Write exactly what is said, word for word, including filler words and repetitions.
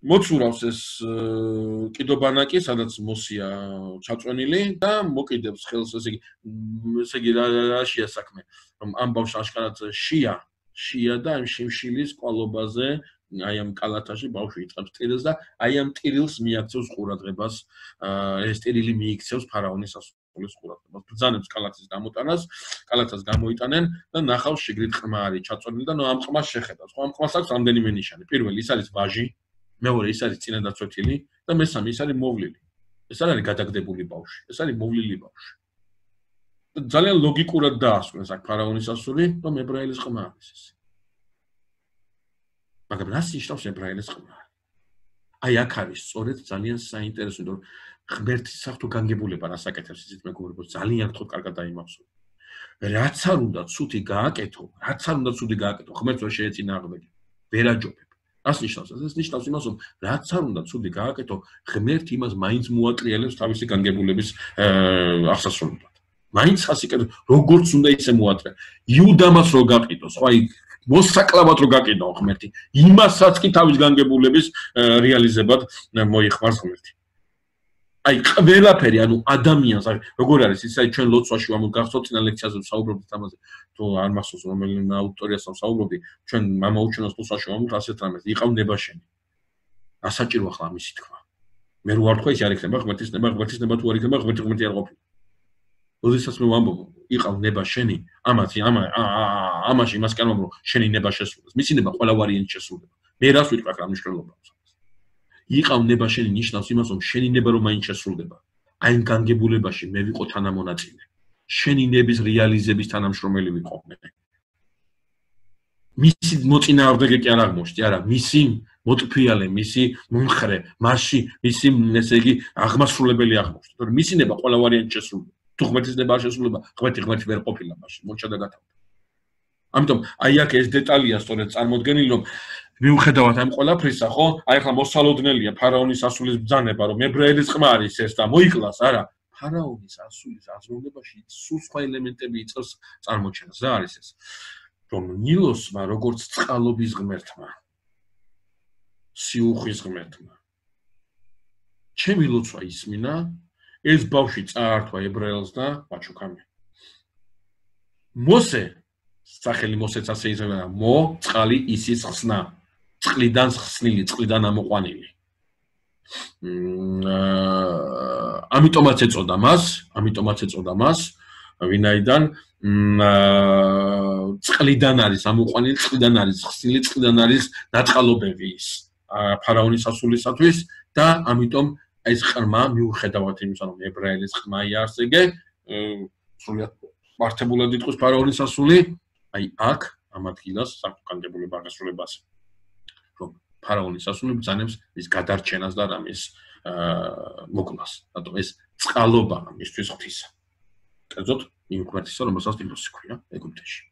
მოცურავს ეს კიდობანაკი, სადაც მოსია ჩაწვენილი და მოკიდებს ხელს, ესე იგი, ესე იგი რაშია საქმე, რომ ამ ბავშვს აშკარად შია, შია და ამ შიმშილის ყვალობაზე, აი ამ კალათაში ბავშვი იწყებს ტირილს და აი ამ ტირილს მიაქცევს ყურადღებას, ეს ტირილი მიიქცევს ფარაონის სასულიერო ყურადღებას. ბრძანებს კალათის გამოტანას, კალათას გამოიტანენ და ნახავს შიგრით ყმა არის ჩაწვენილი და ნუ ამ ყმას შეხედავს. ხო, ამ ყმას აქვს რამდენიმე ნიშანი. პირველი ის არის ვაჟი, მეორე ის არის წინადაცვეთილი და მესამე ის არის მოვლილი. ეს არ არის გადაგდებული ბავშვი, ეს არის მოვლილი ბავშვი. ძალიან ლოგიკურად დაასვენეს აქ ფარაონის ასული, რომ ებრაელის ყმა არის ეს. მაგრამ რას ნიშნავს ებრაელის ყმა? აი აქ არის სწორედ ძალიან საინტერესო, რომ ღმერთის საფრთხო განგებულება რას აკეთებს ისეთ მეგობრებო, ძალიან გთხოვთ კარგად დაიმახსოვრეთ. რაც არ უნდა ცუდი გააკეთო, რაც არ უნდა ცუდი გააკეთო, ღმერთს ვერ შეეწინააღმდეგე. ვერ აჯობებ. რას ნიშნავს ეს? ეს ნიშნავს იმას, რომ რაც არ უნდა ცუდი გააკეთო, ღმერთი იმას მაინც მოატრიალებს თავისი განგებულების აღსასრულებლად. მაინც ხასიკეთ როგორც უნდა ისე მოატრია. იუდამას რო გაყიდოს, ხო აი მოსაკლავად რო გაყიდო ღმერთი, იმასაც კი თავის განგებულების რეალიზებად მოიხმარს ღმერთი. აი ყველაფერი, ანუ ადამიანს, როგორ არის ის, აი ჩვენ ლოცვაში ვამოგახსოვთ წინა ლექციაზე ვსაუბრობთ ამაზე, თუ არ მახსოვს რომელი აუდიტორიასთან ვსაუბრობდი, ჩვენ მამაუჩინოს ლოცვაში ვამბობთ ასეთ რამეს, იყავ ნება შენი. ასაჭირო ახლა ამისი თქვა. მე რო არ თქვა ის არ იქნება ღმერთის ნება, ღმერთის ნება თუ არ იქნება, ღმერთი ღმერთი არ ყოფილა. როდესაც მე ვამბობ, იყავ ნება შენი, ამათი ამა ამაში იმას კი არ ვამბობ, შენი ნება შესრულდეს. მისი ნება ყველა ვარიანტი შესრულდება. მე რას ვიტყვი რა მნიშვნელობა აქვს? იყავ ნება შენი ნიშნავს იმას, რომ შენი ნება რომ მაინც შესრულდება. აი ამ განგებულებაში მე ვიყო თანამონაწილე. შენი ნების რეალიზების თანამშრომელი ვიყო მე. მისი მოწინააღმდეგე კი არ აღმოჩნდი, არა, მისი მოტფიალე, მისი მომხრე, მასში მისი ესე იგი აღმასრულებელი აღმოჩნდა. თორემ მისი ნება ყველა ვარიანტი შესრულდება. თუ ღმერთის ნება არ შესრულდება, ღმერთი ღმერთი ვერ ყოფილა მასში, მოჩა და გათავდა. ამიტომ აი აქ ეს დეტალია სწორედ წარმოდგენილი, რომ მიუხედავად ამ ყველაფრისა, ხო? აი ახლა მოსალოდნელია ფარაონის ასულის ბრძანება, რომ ებრაელის ყმა არის ეს და მოიკლას, არა? ფარაონის ასულის აზროვნებაში სულ სხვა ელემენტები იწევს წარმოჩენას. რა არის ეს? რომ ნილოსმა, როგორც წყალობის ღმერთმა, სიუხვის ღმერთმა, ჩემი ლოცვა ისმინა, ეს ბავშვი წაართვა ებრაელს და ვაჩუქამი. მოსე, სახელი მოსეც ასე იზრდება, მო წყალი ისის ხსნა. წყლიდან ხსნილი, წყლიდან ამოყვანილი. ამიტომაც ეწოდა მას, ამიტომაც ეწოდა მას, ვინაიდან წყლიდან არის ამოყვანილი, წყლიდან არის ხსნილი, წყლიდან არის დაწყალობები ის ფარაონის ასულისათვის და ამიტომ ეს ყრმა მიუხედავად იმისა, რომ ებრაელის ყმა იარსეგე, სრულიად მართებულად იტყვის ფარაონის ასული, აი აქ ამ ადგილას საკანდებულება აღესრულებას. ფარაონის ასული ბრძანებს ის გადარჩენას და რამის მოკლას. რატომ ეს წყალობა მისთვის ღვთისა. კერძოდ იმ ღმერთისა, რომელსაც ნილოსი ქვია ეგვიპტეში.